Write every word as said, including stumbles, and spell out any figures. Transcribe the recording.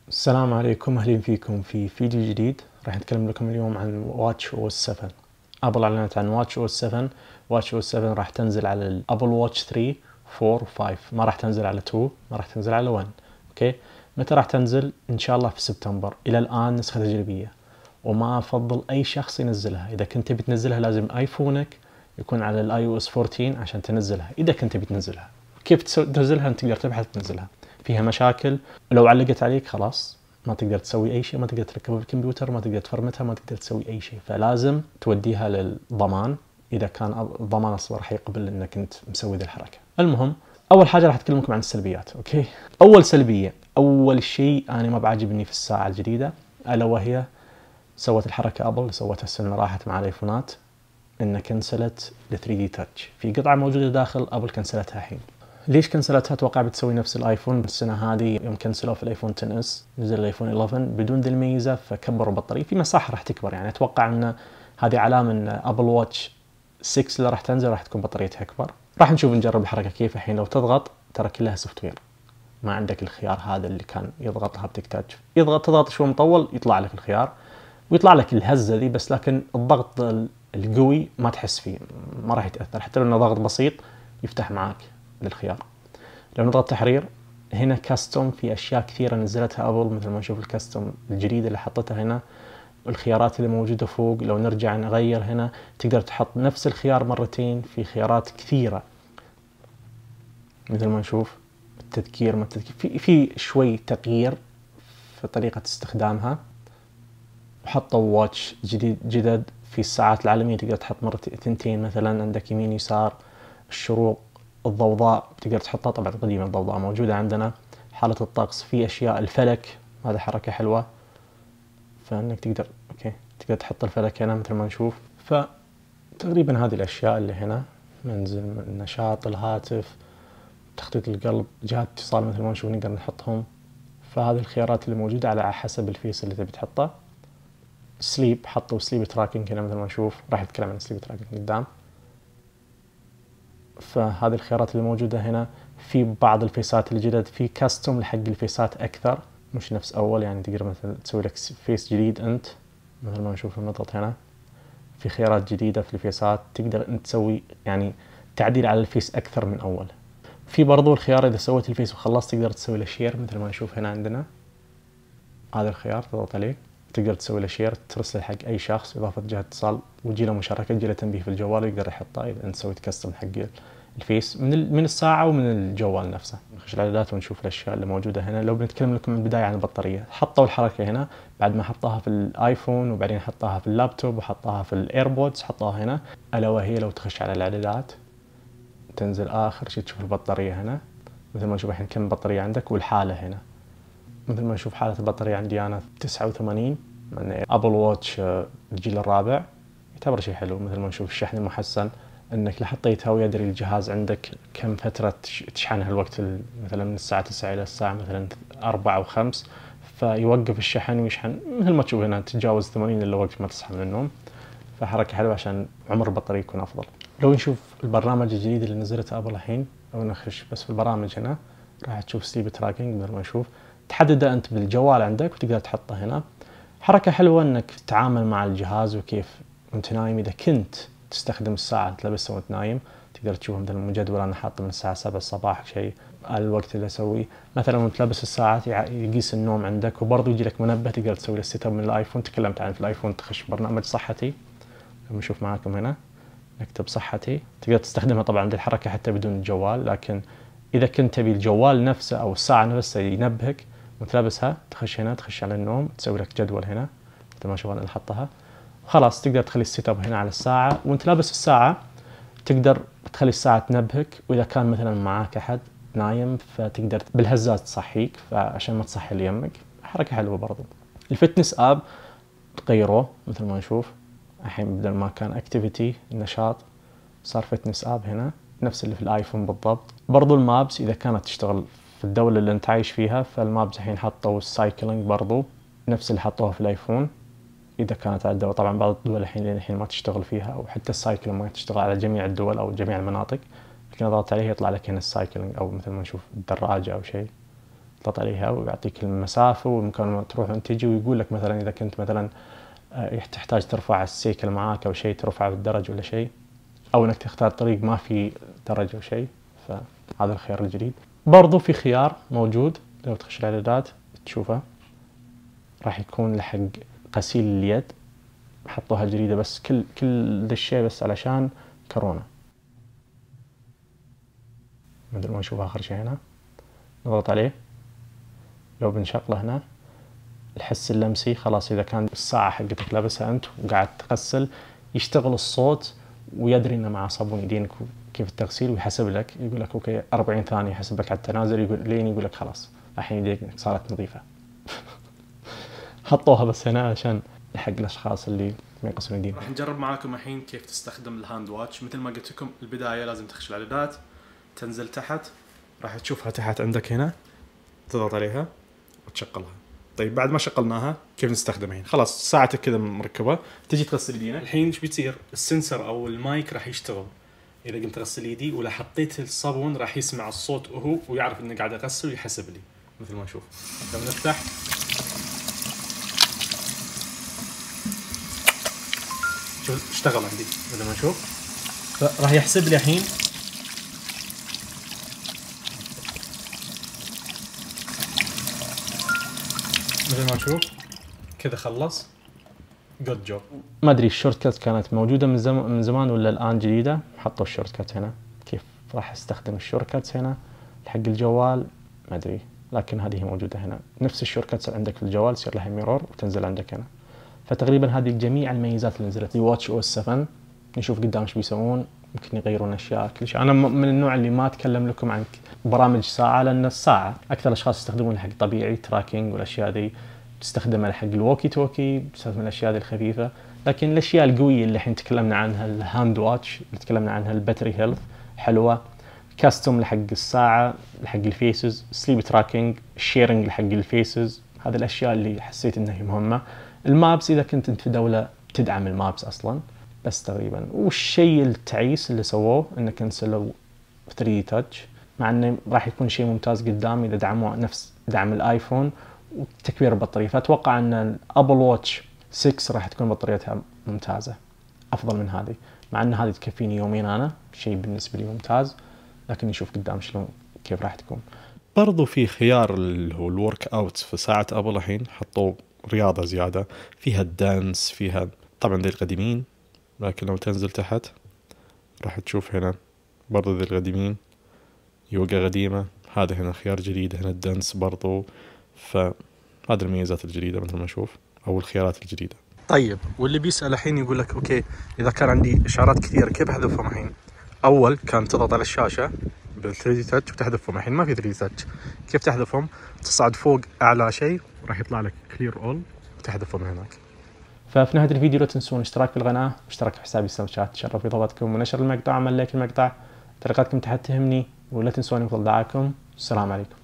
السلام عليكم، اهلين فيكم في فيديو جديد. راح نتكلم لكم اليوم عن واتش او اس سبعة. ابل اعلنت عن واتش او اس سبعة. واتش او اس سبعة راح تنزل على الابل واتش ثلاثة أربعة و5، ما راح تنزل على اثنين، ما راح تنزل على واحد. اوكي، متى راح تنزل؟ ان شاء الله في سبتمبر. الى الان نسخة تجريبية، وما افضل اي شخص ينزلها. اذا كنت بتنزلها لازم ايفونك يكون على الاي او اس أربعة عشر عشان تنزلها. اذا كنت بتنزلها كيف تنزلها؟ انت تقدر تبحث تنزلها، فيها مشاكل، ولو علقت عليك خلاص ما تقدر تسوي اي شيء، ما تقدر تركبها بالكمبيوتر، ما تقدر تفرمتها، ما تقدر تسوي اي شيء. فلازم توديها للضمان اذا كان الضمان اصلا راح يقبل انك انت مسوي ذي الحركه. المهم، اول حاجه راح اتكلم لكم عن السلبيات. اوكي، اول سلبيه، اول شيء انا ما بعجبني في الساعه الجديده، الا وهي سوت الحركه ابل سوتها السنه اللي راحت مع الايفونات، ان كنسلت ال ثري دي تاتش في قطعه موجوده داخل. ابل كنسلتها الحين. ليش كنسلتها؟ اتوقع بتسوي نفس الايفون السنه هذه يوم كنسلوه في الايفون عشرة اس، نزل الايفون إحدى عشر بدون ذي الميزه، فكبروا البطاريه في مساحه راح تكبر. يعني اتوقع ان هذه علامه ان ابل واتش ستة اللي راح تنزل راح تكون بطاريتها اكبر. راح نشوف نجرب الحركه كيف. الحين لو تضغط ترى كلها سوفت وير، ما عندك الخيار هذا اللي كان يضغطها بتحتاج يضغط تضغط شوي مطول يطلع لك الخيار، ويطلع لك الهزه ذي بس، لكن الضغط القوي ما تحس فيه، ما راح يتاثر. حتى لو انه ضغط بسيط يفتح معك للخيار. لو نضغط تحرير هنا كاستوم، في اشياء كثيره نزلتها ابل، مثل ما نشوف الكاستوم الجديده اللي حطتها هنا، والخيارات اللي موجوده فوق. لو نرجع نغير هنا تقدر تحط نفس الخيار مرتين، في خيارات كثيره مثل ما نشوف التذكير، ما التذكير في في شوي تغيير في طريقه استخدامها. وحطوا واتش جديد جدد في الساعات العالميه، تقدر تحط مرتين ثنتين، مثلا عندك يمين يسار، الشروق، الضوضاء تقدر تحطها. طبعا قديمة الضوضاء موجودة عندنا. حالة الطقس، في أشياء الفلك، هذا حركة حلوة، فإنك تقدر أوكي تقدر تحط الفلك هنا مثل ما نشوف. فتقريبا هذه الأشياء اللي هنا، منزل النشاط، الهاتف، تخطيط القلب، جهات اتصال مثل ما نشوف نقدر نحطهم. فهذه الخيارات اللي موجودة على حسب الفيس اللي تبي تحطه. سليب، حطوا سليب تراكنج هنا مثل ما نشوف، راح نتكلم عن سليب تراكنج قدام. فهذه الخيارات اللي موجودة هنا. في بعض الفيسات الجدد في كاستوم لحق الفيسات أكثر، مش نفس أول. يعني تقدر مثلا تسوي لك فيس جديد أنت، مثل ما نشوف نضغط هنا، في خيارات جديدة في الفيسات تقدر أنت تسوي يعني تعديل على الفيس أكثر من أول. في برضو الخيار إذا سويت الفيس وخلصت تقدر تسوي له شير، مثل ما نشوف هنا عندنا هذا الخيار، تضغط عليه تقدر تسوي له شير، ترسل حق أي شخص، إضافة جهة اتصال، وتجي له مشاركة، تجي له تنبيه في الجوال يقدر يحطها إذا أنت سويت كاستم حق الفيس من من الساعة ومن الجوال نفسه. نخش الإعدادات ونشوف الأشياء اللي موجودة هنا. لو بنتكلم لكم من البداية عن البطارية، حطوا الحركة هنا بعد ما حطها في الآيفون، وبعدين حطها في اللابتوب، وحطها في الإيربودز، حطها هنا. ألا وهي لو تخش على الإعدادات تنزل آخر شيء تشوف البطارية هنا، مثل ما نشوف الحين كم بطارية عندك والحالة هنا. مثل ما نشوف حالة البطارية عندي أنا تسعة وثمانين، من أبل واتش الجيل الرابع، يعتبر شيء حلو. مثل ما نشوف الشحن المحسن، انك لو حطيتها ويدري الجهاز عندك كم فترة تشحنها الوقت، مثلا من الساعة تسعة الى الساعة مثلا أربعة او خمسة، فيوقف الشحن ويشحن. مثل ما تشوف هنا تتجاوز ثمانين الا وقت ما تصحى من النوم. فحركة حلوة عشان عمر البطارية يكون افضل. لو نشوف البرنامج الجديد اللي نزلته ابل الحين، لو نخش بس في البرامج هنا راح تشوف سليب تراكنج. مثل ما نشوف تحدده انت بالجوال عندك وتقدر تحطه هنا. حركة حلوة انك تتعامل مع الجهاز وكيف وانت نايم. اذا كنت تستخدم الساعة تلبسها وانت نايم تقدر تشوف مثلا المجدول، انا حاطه من الساعة سبعة الصباح شيء الوقت اللي اسويه. مثلا وانت لابس الساعة يقيس النوم عندك، وبرضه يجي لك منبه تقدر تسوي له سيت اب من الايفون. تكلمت عنه في الايفون، تخش برنامج صحتي، لما نشوف معاكم هنا نكتب صحتي، تقدر تستخدمها طبعا عند الحركة حتى بدون الجوال. لكن اذا كنت تبي الجوال نفسه او الساعة نفسها ينبهك وانت لابسها، تخش هنا تخش على النوم، تسوي لك جدول هنا مثل ما شوف انا حطها. خلاص تقدر تخلي السيت اب هنا على الساعة، وانت لابس الساعة تقدر تخلي الساعة تنبهك. واذا كان مثلا معاك احد نايم فتقدر بالهزات تصحيك، فعشان ما تصحي اللي يمك. حركة حلوة برضو. الفتنس اب تغيروه مثل ما نشوف الحين، بدل ما كان اكتيفيتي النشاط صار فتنس اب هنا، نفس اللي في الايفون بالضبط. برضو المابس اذا كانت تشتغل في الدولة اللي انت عايش فيها، فالمابس الحين حطوا السايكلينج برضو نفس اللي حطوها في الايفون. اذا كانت على الدول، طبعا بعض الدول الحين الحين ما تشتغل فيها، او حتى السايكلينج ما تشتغل على جميع الدول او جميع المناطق. لكن اضغط عليه يطلع لك هنا السايكلينج، او مثل ما نشوف الدراجة او شيء تضغط عليها ويعطيك المسافة والمكان تروح وتجي، ويقول لك مثلا إذا كنت مثلا تحتاج ترفع السيكل معاك أو شيء، ترفعه بالدرج ولا شيء، أو إنك تختار طريق ما في درج أو شيء، فهذا الخيار الجديد. برضو في خيار موجود لو تخش الإعدادات تشوفه، راح يكون لحق غسيل اليد، حطوها جديدة بس كل كل ذا الشيء بس علشان كورونا. مثل ما نشوف آخر شيء هنا، نضغط عليه لو بنشغله هنا الحس اللمسي خلاص. إذا كان الساعة حقتك لابسها أنت وقاعد تغسل يشتغل الصوت ويدري إنه مع صابون يدينك كيف التغسيل، ويحسب لك يقول لك أوكي أربعين ثانية، يحسب لك على التنازل، يقول لين يقول لك خلاص الحين يديك صارت نظيفة. حطوها بس هنا عشان حق الأشخاص اللي ما يغسلون يدين. راح نجرب معاكم الحين كيف تستخدم الهاند واتش. مثل ما قلت لكم البداية لازم تخش الإعدادات، تنزل تحت، راح تشوفها تحت عندك هنا، تضغط عليها وتشغلها. طيب بعد ما شغلناها كيف نستخدمها الحين؟ خلاص ساعتك كذا مركبة، تجي تغسل يدينك. الحين ايش بيصير؟ السنسر أو المايك راح يشتغل. إذا قمت أغسل يدي ولا حطيت الصابون راح يسمع الصوت وهو ويعرف إني قاعد أغسل ويحسب لي. مثل ما نشوف لما نفتح شوف اشتغل عندي. مثل ما نشوف راح يحسب لي الحين مثل ما نشوف كذا خلص. جود جوب. ما ادري الشورت كات كانت موجوده من زمان من زمان ولا الان جديده، حطوا الشورت كات هنا. كيف راح استخدم الشورت كات هنا حق الجوال ما ادري، لكن هذه موجوده هنا. نفس الشورت كات عندك في الجوال يصير لها ميرور وتنزل عندك هنا. فتقريبا هذه جميع الميزات اللي نزلت. واتش او اس سبعة نشوف قدام ايش بيسوون، ممكن يغيرون اشياء كل شيء. انا من النوع اللي ما اتكلم لكم عن برامج ساعه، لان الساعه اكثر الاشخاص يستخدمونها حق طبيعي تراكنج والاشياء ذي، تستخدمها حق الووكي توكي، تستخدم الاشياء ذي الخفيفه. لكن الاشياء القويه اللي الحين تكلمنا عنها، الهاند واتش اللي تكلمنا عنها، الباتري هيلث حلوه، كاستوم لحق الساعه، لحق الفيسز، سليب تراكنج، شيرنج لحق الفيسز، هذه الاشياء اللي حسيت انها مهمه. المابس اذا كنت انت في دوله تدعم المابس اصلا، بس تقريبا. والشيء التعيس اللي سووه انه كنسلوا ثري دي تاتش، مع انه راح يكون شيء ممتاز قدام اذا دعموا نفس دعم الايفون وتكبير البطاريه. فاتوقع ان الابل واتش ستة راح تكون بطاريتها ممتازه افضل من هذه، مع ان هذه تكفيني يومين انا، شيء بالنسبه لي ممتاز. لكن نشوف قدام شلون كيف راح تكون. برضو في خيار اللي هو الورك اوت في ساعة ابل الحين، حطوا رياضة زيادة فيها الدانس، فيها طبعا ذي القديمين، لكن لو تنزل تحت راح تشوف هنا برضو ذي القديمين، يوغا قديمة، هذا هنا خيار جديد، هنا الدانس برضو. فهذه الميزات الجديدة مثل ما نشوف، او الخيارات الجديدة. طيب واللي بيسأل الحين يقول لك اوكي اذا كان عندي اشعارات كثيرة كيف احذفهم الحين؟ اول كان تضغط على الشاشة بال ثري دي تاتش وتحذفهم، الحين ما في ثري دي تاتش. كيف تحذفهم؟ تصعد فوق اعلى شيء وراح يطلع لك كلير اول وتحذفهم هناك. ففي نهايه الفيديو لا تنسون الاشتراك في القناه واشتراك في حسابي سناب شات، تشرف اضافتكم ونشر المقطع، عمل لايك المقطع، تعليقاتكم تحت تهمني، ولا تنسون يفضل دعاكم. السلام عليكم.